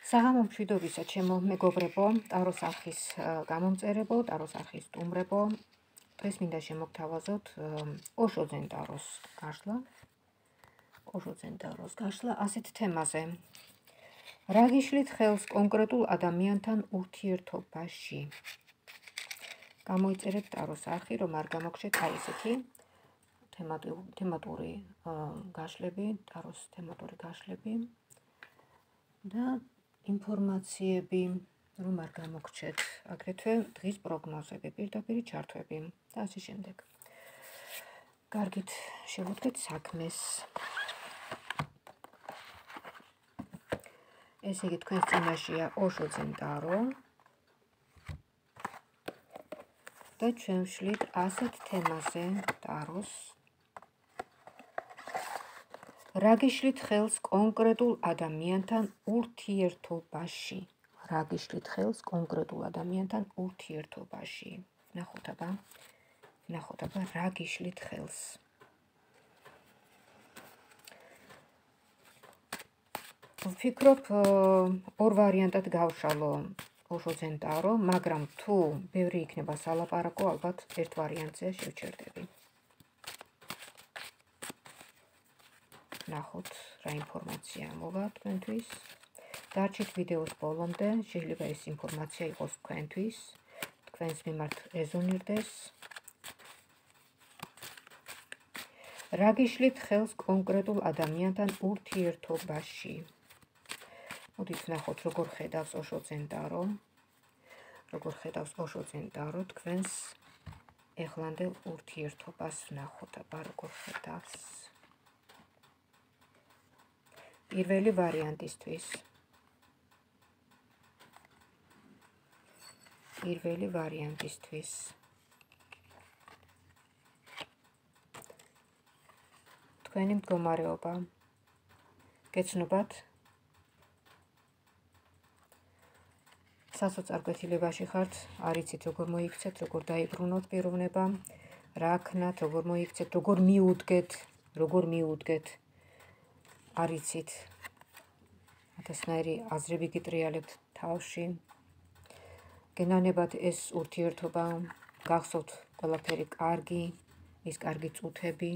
საღამო მშვიდობისა, ჩემო მეგობრებო, ტაროს არხის გამომწერებო, ტაროს არხის სტუმრებო. დღეს მინდა შემოგთავაზოთ ოშოძენ ტაროს გაშლა ასეთ თემაზე. რა გიშლით ხელს კონკრეტულ ადამიანთან ურთიერთობაში? გამოიწერეთ ტაროს არხი, რომ არ გამოგჩეთ აი ესეთი თემატური გაშლები, ტაროს თემატური გაშლები და ინფორმაციები, რომ არ გამოგჩეთ, აგრეთვე დღის პროგნოზები, პირდაპირი ჩართვები და ასე შემდეგ. კარგით, შევუდგეთ საქმეს. ესე იგი, თქვენს წინაშეა ოშოძენ ტარო და ჩვენ ვშლით ასეთ თემაზე ტაროს. რა გიშლით ხელს კონკრეტულ ადამიანთან ურთიერთობაში? რა გიშლით ხელს კონკრეტულ ადამიანთან ურთიერთობაში? ნახოთ აბა, რა გიშლით ხელს? ვფიქრობ, ორ ვარიანტად გავშალო ოშოძენ ტარო, მაგრამ თუ ბევრი იქნება სალაპარაკო, ალბათ ერთ ვარიანტზე შევჩერდები. ნახოთ, რა ინფორმაცია მოვა თქვენთვის. დარჩით ვიდეოს ბოლომდე, შეიძლება ეს ინფორმაცია იყოს თქვენთვის, თქვენს მიმართ რეზონირდეს. რა გიშლით ხელს კონკრეტულ ადამიანთან ურთიერთობაში? მოდით ნახოთ, როგორ ხედავს ოშოძენ ტარო, თქვენს ეხლანდელ ურთიერთობას ნახოთ, აბა როგორ ხედავს. პირველი ვარიანტისთვის. თქვენი მდგომარეობა. გეცნობათ? სასოწარკვეთილებაში ხართ, არ იცით როგორ მოიქცეთ, როგორ დაიბრუნოთ პიროვნება, რა ქნათ, როგორ მოიქცეთ, როგორ მიუდგეთ. არ იცით. ათასნაირი აზრები გიტრიალებთ თავში. გენანებათ ეს ურთიერთობა, გახსოვთ ყველაფერი კარგი, ის კარგი წუთები,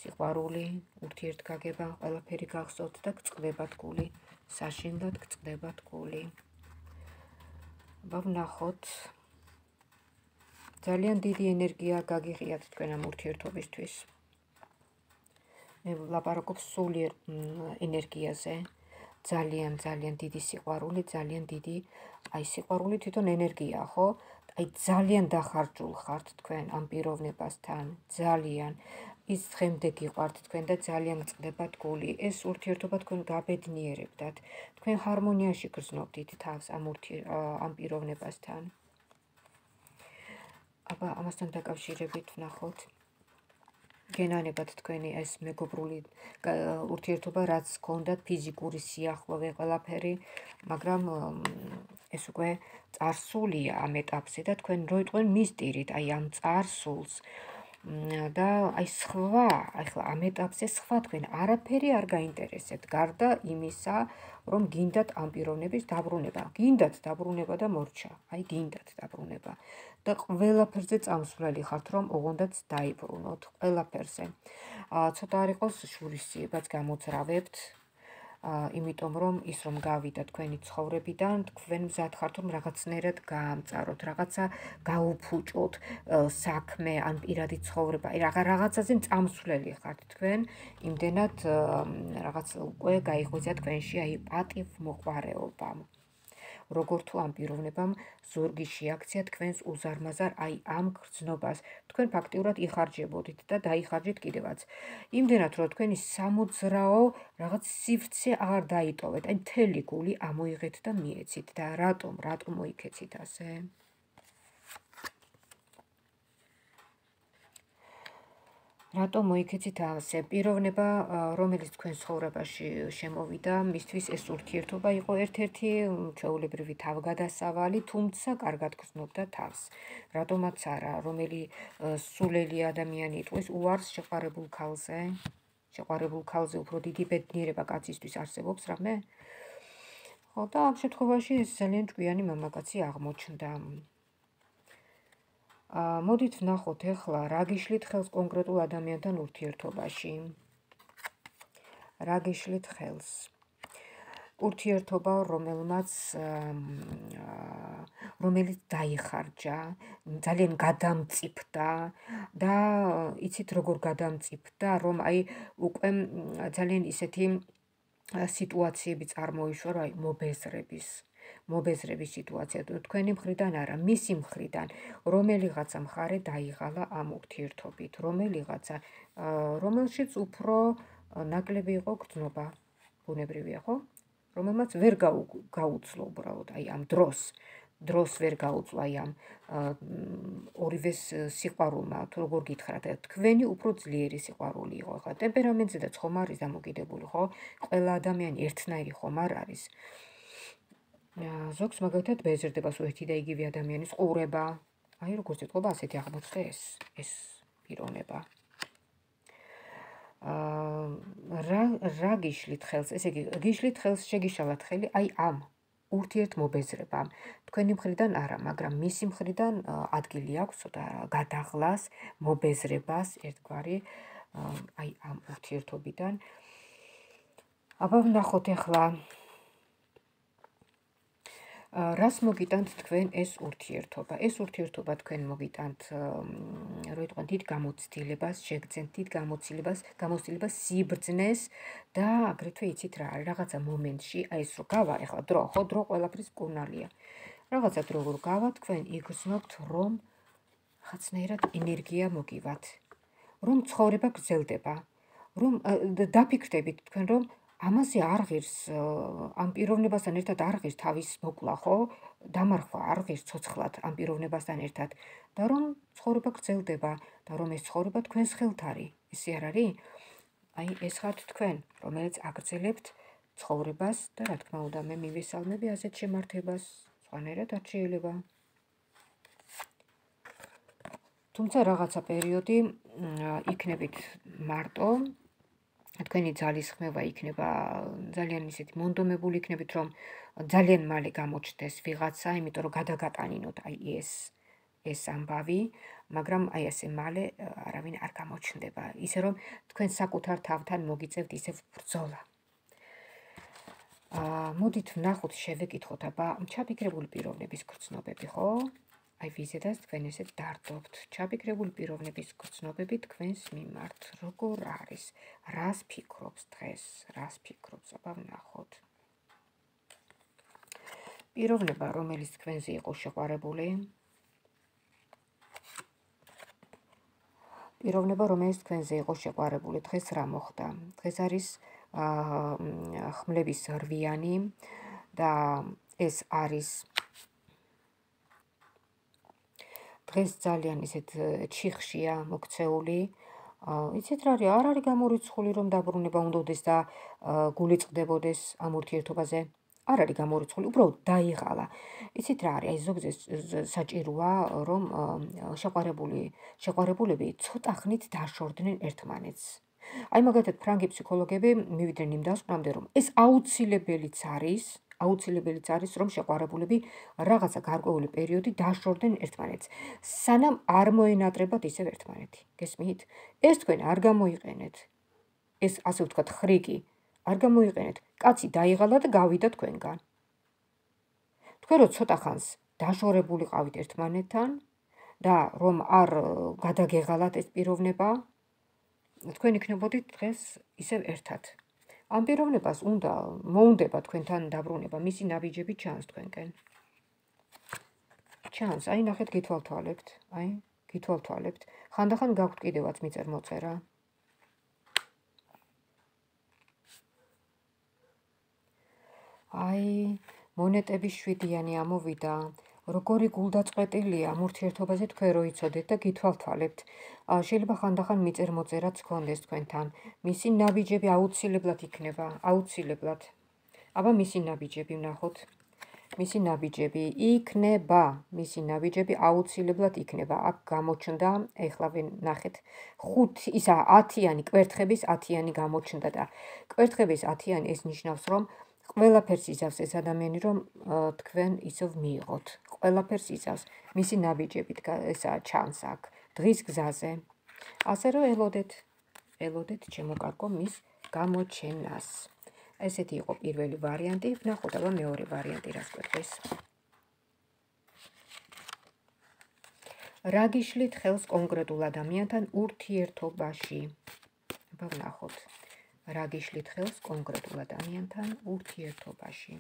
სიყვარული, ურთიერთგაგება, ყველაფერი გახსოვთ და გწყდებათ გული, საშინლად გწყდებათ გული. ვნახოთ, ძალიან დიდი ენერგია გაგიღიათ თქვენ ამ ურთიერთობისთვის. მე ვლაპარაკობ სულიერ ენერგიაზე, ძალიან დიდი სიყვარული, ძალიან დიდი, აი სიყვარული თვითონ ენერგია, ხო? აი ძალიან დახარჯულ ხართ თქვენ ამ პიროვნებასთან, ძალიან ის დღემდე გიყვართ თქვენ და ძალიან გწყდებათ გული. ეს ურთიერთობა თქვენ გაბედნიერებდათ, თქვენ ჰარმონიაში გრძნობდით თავს ამ პიროვნებასთან. აბა ამასთან დაკავშირებით ვნახოთ. გენანებათ თქვენი ეს მეგობრული ურთიერთობა, რაც გქონდათ ფიზიკური სიახლოვე, ყველაფერი, მაგრამ ეს უკვე წარსულია ამ ეტაპზე და თქვენ როიტყვენ მისტირით აი ამ წარსულს და აი სხვა, ახლა ამ ეტაპზე სხვა თქვენ არაფერი არ გაინტერესებთ, გარდა იმისა, რომ გინდათ ამ პიროვნების დაბრუნება. გინდათ დაბრუნება და მორჩა, აი გინდათ დაბრუნება. და ყველაფერზე წამსვლელი ხართ, რომ ოღონდაც დაიბრუნოთ, ყველაფერზე. ცოტა არ იყოს შურისძიებაც გამოძრავებთ, იმიტომ რომ ის რომ გავიდა თქვენი ცხოვრებიდან, თქვენ მზად ხართ, რომ რაღაცნაირად გაამწაროთ, რაღაცა გაუფუჭოთ, საქმე ან პირადი ცხოვრება, აი რაღაცაზე წამსვლელი ხართ თქვენ, იმდენად რაღაც უკვე გაიღვიძა თქვენში აი პატივმოყვარეობა. როგორ თუ ამ პიროვნებამ ზორგი შეაქცია თქვენს უზარმაზარ აი ამ გრძნობას. თქვენ ფაქტიურად იხარჯებოდით და დაიხარჯეთ კიდევაც. იმდენად, რომ თქვენი სამოძრაო რაღაც სივრცე აღარ დაიტოვეთ, აი მთელი გული ამოიღეთ და მიეცით და რატომ მოიქეცით ასე? რატომ მოიქეცით ასე? პიროვნება, რომელიც თქვენ ცხოვრებაში შემოვიდა, მისთვის ეს ურთიერთობა იყო ერთ-ერთი ჩვეულებრივი თავგადასავალი, თუმცა კარგად გრძნობდა თავს. რატომაც არა, რომელი სულელი ადამიანი იტყვის უარს შეყვარებულ ქალზე უფრო დიდი ბედნიერება კაცისთვის არსებობს რამე? ხო და ამ შემთხვევაში ეს ძალიან ჭკვიანი მამაკაცი აღმოჩნდა. მოდით ვნახოთ ახლა რა გიშლით ხელს კონკრეტულ ადამიანთან ურთიერთობაში. რა გიშლით ხელს? ურთიერთობა, რომელიც დაიხარჯა, ძალიან გადამწიფდა და იცით როგორ გადამწიფდა, რომ აი უკვე ძალიან ისეთი სიტუაციები წარმოიშვა, რომ აი მობეზრების სიტუაცია, თქვენი მხრიდან არა, მისი მხრიდან, რომელიღაცა მხარე დაიღალა ამ ურთიერთობით, რომელშიც უფრო ნაკლები იყო გრძნობა, ბუნებრივია, ხო? რომელმაც ვერ გაუძლო უბრალოდ აი ამ დროს ვერ გაუძლო აი ამ ორივეს სიყვარულმა, თუ როგორ გითხრათ, თქვენი უფრო ძლიერი სიყვარული იყო. ხა ტემპერამენტზე და ხომ არის დამოკიდებული, ხო? ყველა ადამიანი ერთნაირი ხომ არ არის. ზოგს მაგალითად ბეზრდება ერთი და იგივე ადამიანის ყურება. აი როგორც ეთქობა, ასეთი აღმოჩნდა ეს პიროვნება. რა გიშლით ხელს? ესე იგი, გიშლით ხელს, შეგიშალათ ხელი აი ამ ურთიერთმობეზრებამ. თქვენი მხრიდან არა, მაგრამ მისი მხრიდან ადგილი აქვს ცოტა გადაღლას, მობეზრებას, ერთგვარი აი ამ ურთიერთობიდან. აბა ვნახოთ ახლა რას მოგიტანთ თქვენ ეს ურთიერთობა? ეს ურთიერთობა თქვენ მოგიტანთ, რო იტყვიან დიდ გამოცდილებას, შეგძენთ დიდ გამოცდილებას, სიბრძნეს და აგრეთვე იცით რა არის, რაღაცა მომენტში, აი ეს რო გავა, ახლა დრო, ხო, დრო ყველაფრის მკურნალია. რაღაცა დრო რო გავა, თქვენ იგრძნობთ, რომ ხაცნაირად ენერგია მოგივათ, რომ ცხოვრება გრძელდება, რომ დაფიქრდებით თქვენ, რომ ამაზე არ ღირს, ამ პიროვნებასთან ერთად არ ღირს თავის მოკლა, ხო? დამარხვა არ ღირს ცოცხლად ამ პიროვნებასთან ერთად და რომ ცხოვრება გრძელდება და რომ ეს ცხოვრება თქვენს ხელთ არის. ესე არ არის? აი ეს ხართ თქვენ, რომელიც აგრძელებთ ცხოვრებას და რა თქმა უნდა მე მივესალმები ასეთ შემართებას, სხვანაირად არ შეიძლება. თუმცა რაღაცა პერიოდი იქნებით მარტო, თქვენი ძალისხმევა იქნება ძალიან ისეთი მონდომებული იქნებით, რომ ძალიან მალე გამოჩნდეს ვიღაცა, იმიტომ რომ გადაგატანინოთ აი ეს ამბავი, მაგრამ აი ასე მალე არავინ არ გამოჩნდება, ისე რომ თქვენ საკუთარ თავთან მოგიწევთ ისევ ბრძოლა. მოდით ვნახოთ, შევეკითხოთ, აბა ჩაფიქრებული პიროვნების გრძნობები, ხო? აი ვიზედაც თქვენ ესეთ დარდობთ. ჩაფიქრებული პიროვნების გრძნობები თქვენს მიმართ როგორ არის? რას ფიქრობს დღეს? რას ფიქრობს? აბა ვნახოთ. პიროვნება, რომელიც თქვენზე იყო შეყვარებული. პიროვნება, რომელიც თქვენზე იყო შეყვარებული, დღეს რა მოხდა? დღეს არის ხმლების რვიანი და ეს არის დღეს ძალიან ისეთ ჩიხშია მოქცეული. იცით რა არის? არ არის გამორიცხული, რომ დაბრუნება უნდადეს და გული წყდებოდეს ამ ურთიერთობაზე. არ არის გამორიცხული, უბრალოდ დაიღალა. იცით რა არის? აი ზოგზე საჭიროა, რომ შეყვარებულები ცოტა ხნით დაშორდნენ ერთმანეთს. აი მაგალითად ფრანგი ფსიქოლოგები მივიდნენ იმ დასკვნამდე, რომ ეს აუცილებელიც არის, რომ შეყვარებულები რაღაცა გარკვეული პერიოდი დაშორდნენ ერთმანეთს, სანამ არ მოენატრებათ ისევ ერთმანეთი. გესმით? ეს თქვენ არ გამოიყენეთ. ეს ასე ვთქვათ ხრიკი არ გამოიყენეთ. კაცი დაიღალა და გავიდა თქვენგან. თქვენ რო ცოტა ხანს დაშორებულიყავით ერთმანეთთან და რომ არ გადაგეღალათ ეს პიროვნება, თქვენ იქნებოდით დღეს ისევ ერთად. ამ პიროვნებას მოუნდება თქვენთან დაბრუნება, მისი ნაბიჯები ჩანს თქვენკენ. ჩანს, აი ნახეთ, გითვალთვალებთ. ხანდახან გაქვთ კიდევაც მიწერ-მოწერა. აი, მონეტების 7-იანი ამოვიდა. როგორი გულდაწყვეტილია ამ ურთიერთობაზე თქვენ რო იცოდეთ და გითვალთვალებთ. შეიძლება ხანდახან მიწერ-მოწერაც გქონდეს თქვენთან. მისი ნაბიჯები აუცილებლად იქნება, აუცილებლად. აბა მისი ნაბიჯები ვნახოთ. მისი ნაბიჯები აუცილებლად იქნება. აქ გამოჩნდა, ეხლა ნახეთ, 10-იანი კვერთხების 10-იანი გამოჩნდა და კვერთხების 10-იანი ეს ნიშნავს, რომ ყველაფერს იზავს ეს ადამიანი, რომ თქვენ ისევ მიიღოთ. ყველაფერს იზავს. მისი ნაბიჯებით ესაა ჩანს აქ დღის გზაზე. ასე რომ ელოდეთ ჩემო კარგო მის გამოჩენას. ესეთი იყო პირველი ვარიანტი, ვნახოთ აბა მეორე ვარიანტი რას კვეთს. რა გიშლით ხელს კონკრეტულ ადამიანთან ურთიერთობაში? აბა ვნახოთ. რა გიშლით ხელს კონკრეტულ ადამიანთან ურთიერთობაში?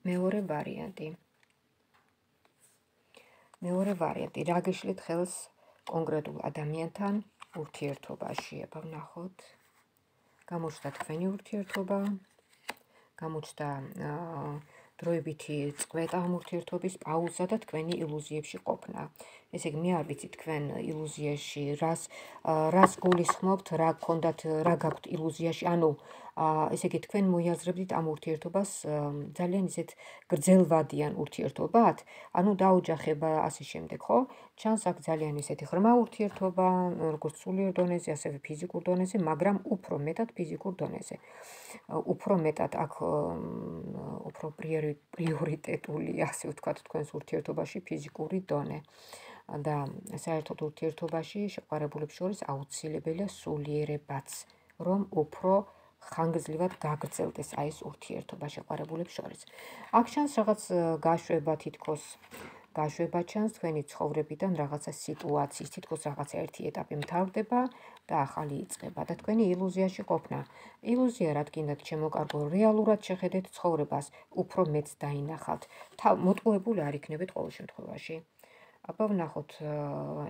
მეორე ვარიანტი. რა გიშლით ხელს კონკრეტულ ადამიანთან ურთიერთობაში? აბა ვნახოთ. გამოჩნდა თქვენი ურთიერთობა, გამოჩნდა დროებითი წყვეტა ამ ურთიერთობის, პაუზა და თქვენი ილუზიებში ყოფნა. ესე იგი, მე არ ვიცი თქვენ ილუზიაში რას გულისხმობთ, რა გქონდათ, რა გაქვთ ილუზიაში, ანუ ესე იგი, თქვენ მოიაზრებდით ამ ურთიერთობას ძალიან ისეთ გრძელვადიან ურთიერთობად, ანუ დაოჯახება ასე შემდეგ, ხო? ჩანს აქ ძალიან ისეთი ღრმა ურთიერთობა, როგორც სულიერ დონეზე, ასევე ფიზიკურ დონეზე, მაგრამ უფრო მეტად ფიზიკურ დონეზე. უფრო მეტად აქ უფრო პრიორიტეტული, ასე ვთქვათ, თქვენს ურთიერთობაში ფიზიკური დონე. და საერთოდ ურთიერთობაში შეყვარებულებს შორის აუცილებელია სულიერებაც, რომ უფრო ხანგრძლივად გაგრძელდეს აი ეს ურთიერთობა შეყვარებულებს შორის. აქ ჩანს რაღაც გაშვება, თითქოს გაშვება ჩანს თქვენი ცხოვრებიდან რაღაცა სიტუაციის, თითქოს რაღაცა ერთი ეტაპი მთავრდება და ახალი იწყება და თქვენი ილუზიაში ყოფნა. ილუზია რა გინდათ ჩემო კარგო, რეალურად შეხედეთ ცხოვრებას, უფრო მეც დაინახავთ. მოტყუებული არ იქნებით ყოველ შემთხვევაში. აბა ვნახოთ,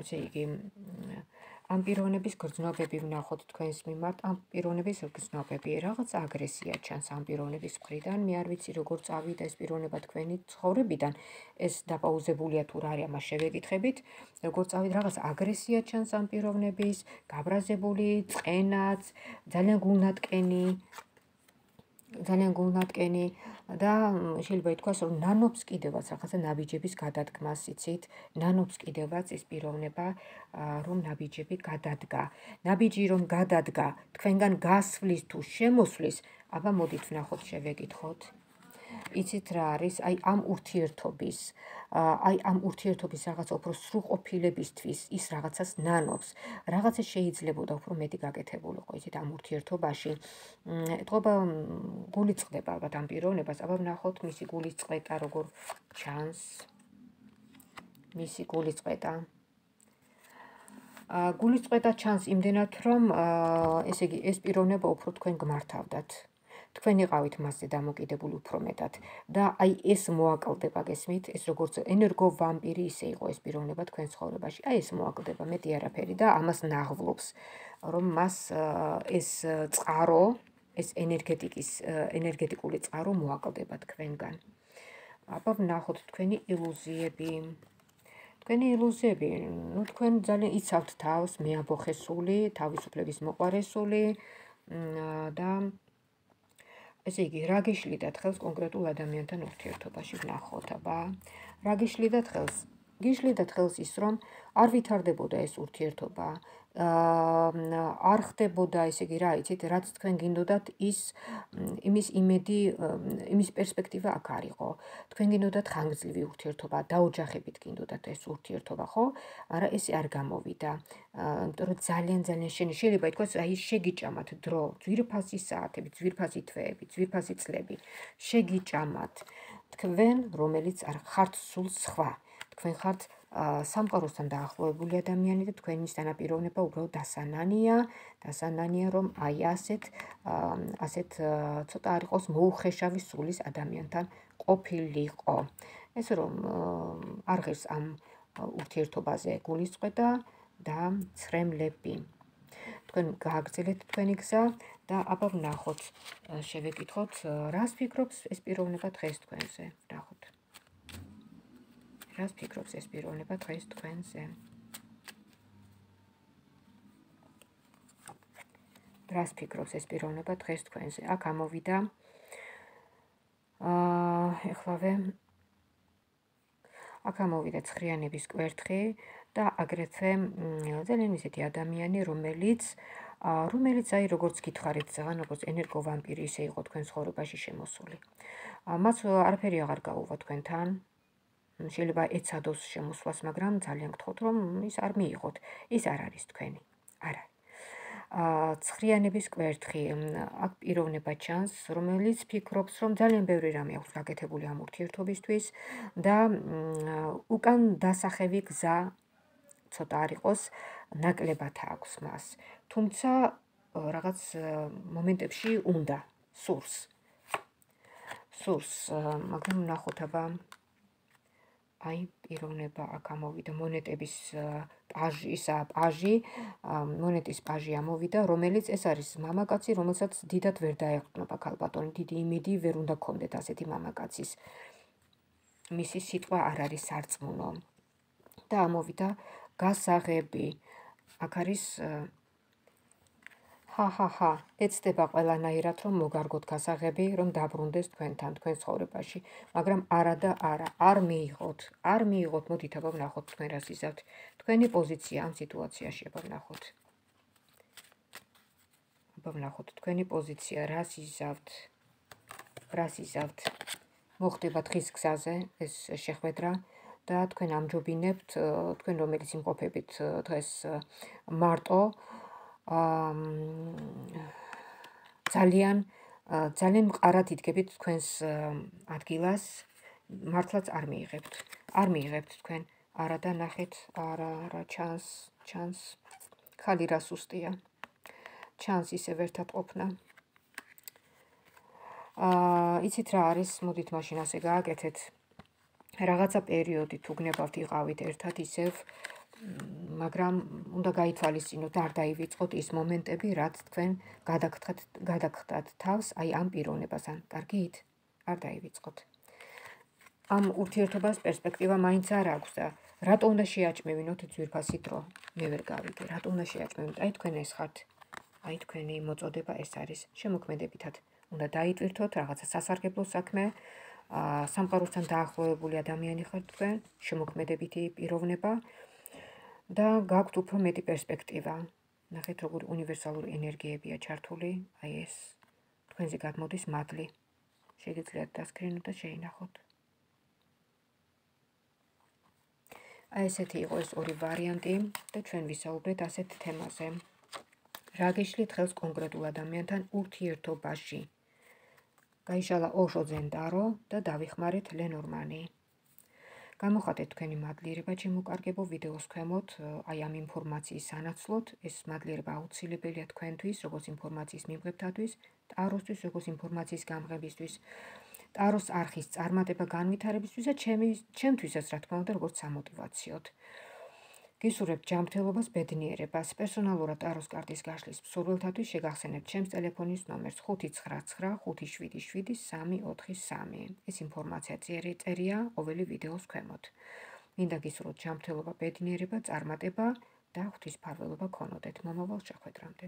ესე იგი, ამ პიროვნების გრძნობები ვნახოთ თქვენს მიმართ, ამ პიროვნების გრძნობები, რაღაც აგრესია ჩანს ამ პიროვნების მხრიდან, მე არ ვიცი როგორ წავიდა ეს პიროვნება თქვენი ცხოვრებიდან, ეს დაპაუზებულია თუ რა არის, ამას შევეკითხებით, როგორ წავიდა, რაღაც აგრესია ჩანს ამ პიროვნების, გაბრაზებული, წყენაც, ძალიან გულნატკენი და შეიძლება ითქვას, რომ ნანობს კიდევაც რაღაცა ნაბიჯების გადადგმას, იცით? ნანობს კიდევაც ეს პიროვნება, რომ ნაბიჯები გადადგა. ნაბიჯი რომ გადადგა, თქვენგან გასვლის თუ შემოსვლის, აბა მოდით ვნახოთ, შევეკითხოთ. იცით რა არის? აი ამ ურთიერთობის რაღაც უფრო სრულყოფილებისთვის ის რაღაცას ნანობს. რაღაცა შეიძლებოდა უფრო მეტი გაკეთებულიყო, იცით, ამ ურთიერთობაში. ეთყობა გული წყდება ალბათ ამ პიროვნებას, აბა ვნახოთ მისი გულის წყვეტა როგორ ჩანს. მისი გულის წყვეტა. გულის წყვეტა ჩანს იმდენად, რომ ესე იგი, ეს პიროვნება უფრო თქვენ გმართავდათ. თქვენ იყავით მასზე დამოკიდებული უფრო მეტად და აი ეს მოაკლდება, გესმით? ეს როგორც ენერგო ვამპირი ისე იყო ეს პიროვნება თქვენ ცხოვრებაში. აი ეს მოაკლდება, მეტი არაფერი და ამას ნაღვლობს, რომ მას ეს წყარო, ეს ენერგეტიკული წყარო მოაკლდება თქვენგან. აბა ვნახოთ თქვენი ილუზიები. თქვენ ძალიან იცავთ თავს, მეაბოხესული, თავისუფლების მოყვარესული და ესე იგი, რა გიშლიდათ ხელს კონკრეტულ ადამიანთან ურთიერთობაში ვნახოთ, აბა. რა გიშლიდათ ხელს? გიშლიდათ ხელს ის, რომ არ ვითარდებოდა ეს ურთიერთობა, არ ხდებოდა, ესე იგი, რა იცით, რაც თქვენ გინდოდათ იმის იმედი, იმის პერსპექტივა აქ არ იყო. თქვენ გინდოდათ ხანგრძლივი ურთიერთობა, დაოჯახებით გინდოდათ ეს ურთიერთობა, ხო? არა, ესე არ გამოვიდა. იმიტომ რომ ძალიან შეიძლება ითქვას, აი შეგიჭამათ დრო, ძვირფასი საათები, ძვირფასი თვეები, ძვირფასი წლები. შეგიჭამათ თქვენ, რომელიც არ ხართ სულ სხვა. თქვენ ხართ სამყაროსთან დაახლოებული ადამიანი და თქვენისთანა პიროვნება უბრალოდ დასანანია, რომ აი ასეთ ცოტა არ იყოს მოუხეშავი სულის ადამიანთან ყოფილიყო. ეს რომ არ ღირს ამ ურთიერთობაზე გულისწყდა და ცრემლები. თქვენ გააგრძელეთ თქვენი გზა და აბა ვნახოთ, შევეკითხოთ, რას ფიქრობს ეს პიროვნება დღეს თქვენზე. ვნახოთ. რას ფიქრობს ეს პიროვნება დღეს თქვენზე? რას ფიქრობს ეს პიროვნება დღეს თქვენზე? აქ ამოვიდა ეხლავე აქ ამოვიდა ცხრიანების კვერთხი და აგრეთვე ძალიან ისეთი ადამიანი, რომელიც აი როგორც გითხარით ზღან, როგორც ენერგოვამპირი ისე იყო თქვენ ცხოვრებაში შემოსული. მას არაფერი აღარ გაუვა თქვენთან. შეიძლება ეცადოს შემოსვლას, მაგრამ ძალიან გთხოვთ, რომ ის არ მიიღოთ. ის არ არის თქვენი. არ არის. ცხრიანების კვერთხი, აქ პიროვნება ჩანს, რომელიც ფიქრობს, რომ ძალიან ბევრი რამე აქვს გაკეთებული ამ ურთიერთობისთვის და უკან დასახევი გზა ცოტა არ იყოს, ნაკლებად აქვს მას. თუმცა რაღაც მომენტებში უნდა სურს, მაგრამ ნახოთ აბა აი პიროვნება აქ ამოვიდა მონეტების პაჟი, მონეტის პაჟი ამოვიდა, რომელიც ეს არის მამაკაცი, რომელსაც დიდად ვერ დაეყრდნობა ქალბატონი, დიდი იმედი ვერ უნდა გქონდეთ ასეთი მამაკაცის. მისი სიტყვა არ არის სარწმუნო. და ამოვიდა გასაღები. აქ არის ეცდება ყველანაირად, რომ მოგარგოთ გასაღები, რომ დაბრუნდეს თქვენთან, თქვენ ცხოვრებაში, მაგრამ არა და არა, არ მიიღოთ, მოდით აბა ვნახოთ თქვენ რას იზავთ. თქვენი პოზიცია ამ სიტუაციაში, აბა ვნახოთ თქვენი პოზიცია, რას იზავთ. მოხდება დღის გზაზე ეს შეხვედრა და თქვენ ამჯობინებთ, თქვენ რომელიც იმყოფებით დღეს მარტო, ძალიან მყარად იდგებით თქვენს ადგილას, მართლაც არ მიიღებთ თქვენ. არა და ნახეთ, არა ჩანს ხალი რა სუსტია. ჩანს ისევ ერთად ყოფნა. იცით რა არის, მოდით მაშინ ასე გააკეთეთ. რაღაცა პერიოდი თუ გნებავთ იყავით ერთად ისევ, მაგრამ უნდა გაითვალისწინოთ, არ დაივიწყოთ ის მომენტები, რაც თქვენ გადაგხდათ თავს აი ამ პიროვნებასთან. კარგით? არ დაივიწყოთ. ამ ურთიერთობას პერსპექტივა მაინც არ აქვს და რატო უნდა შეაჭმევინოთ ძვირფასი დრო? მე ვერ გავიგე, რატო უნდა შეაჭმევინოთ? აი თქვენ ეს ხართ. აი თქვენი მოწოდება ეს არის. შემოქმედებითად უნდა დაიტვირთოთ რაღაცა სასარგებლო საქმე. სამყაროსთან დაახლოებული ადამიანი ხართ თქვენ, შემოქმედებითი პიროვნება და გაქვთ უფრო მეტი პერსპექტივა. ნახეთ როგორი უნივერსალური ენერგიებია ჩართული, აი ეს თქვენზე გადმოდის მადლი. შეგიძლიათ დასკრინოთ და შეინახოთ. აი ესეთი იყო ეს ორი ვარიანტი და ჩვენ ვისაუბრეთ ასეთ თემაზე. რა გეშლით ხელს კონკრეტულ ადამიანთან ურთიერთობაში? გაიშალა ოშო ზენდარო და დავიხმარეთ ლენორმანი. გამოხატეთ თქვენი მადლიერება ჩემო კარგებო ვიდეოს ქვემოთ, აი ამ ინფორმაციის სანაცვლოდ, ეს მადლიერება აუცილებელია თქვენთვის, როგორც ინფორმაციის მიმღებთათვის, ტაროსთვის, როგორც ინფორმაციის გამღებისთვის, ტაროს არხის წარმატება განვითარებისთვის და ჩემთვისაც რა თქმა უნდა, როგორც სამოტივაციოდ. გისურვებთ ჯანმრთელობას, ბედნიერებას, პერსონალურად ტაროს კარტის გაშლის მსურველთათვის შეგახსენებთ ჩემს ტელეფონის ნომერს 599574343. ეს ინფორმაცია წერია ყოველი ვიდეოს ქვემოთ. მინდა გისურვოთ ჯანმრთელობა, ბედნიერება, წარმატება და ღვთისმფარველობა გქონოდეთ მომავალ შეხვედრამდე.